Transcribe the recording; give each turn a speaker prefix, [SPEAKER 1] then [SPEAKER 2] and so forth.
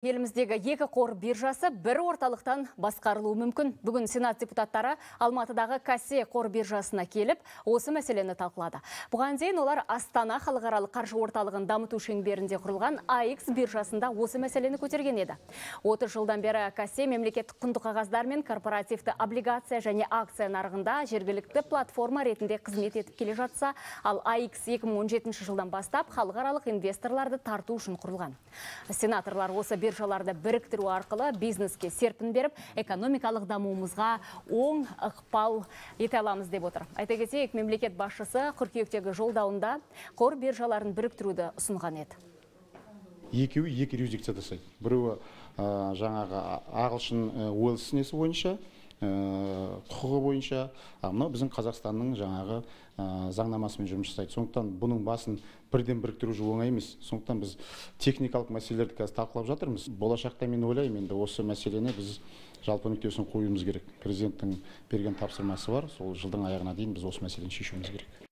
[SPEAKER 1] Еліміздегі екі қор биржасы бір орталықтан басқарылуы мүмкін. Бүгін Сенат депутаттары Алматыдағы Кассе қор биржасына келіп, осы мәселені талқылады. Бұған дейін олар Астана халықаралық қаржы орталығын дамыту шеңберінде құрылған AX биржасында осы мәселені көтерген еді. 30 жылдан бері Кассе мемлекеттік құнды қағаздар мен корпоративті облигация және акция нарығында жергілікті платформа ретінде қызмет етіп келе жатса, ал AX 2017 жылдан бастап халықаралық инвесторларды тарту үшін құрылған. Сенаторлар осы биржаларды біріктіру арқылы бизнеске серпін беріп, экономикалық дамуымызға оң ықпал ете аламыз деп отыр. Айта кетейік, мемлекет басшысы қыркүйектегі жолдауында қор биржаларын біріктіруді ұсынған еді.
[SPEAKER 2] Екеуі екі юрисдикцияда жасайды. Біреуі жаңағы ағылшын Уэльс несі бойынша, құқығы бойынша, мынау біздің Қазақстанның жаңағы заңнамасымен жұмыс жасайды. Сондықтан бұның басын бірден біріктіру оңай емес. Сондықтан біз техникалық мәселелерді қазір талқылап жатырмыз. Болашақта мен ойлаймын, енді осы мәселені біз жалпы нүктесін қоюымыз керек. Президенттің берген тапсырмасы бар. Сол жылдың аяғына дейін біз осы мәселені шешуіміз керек.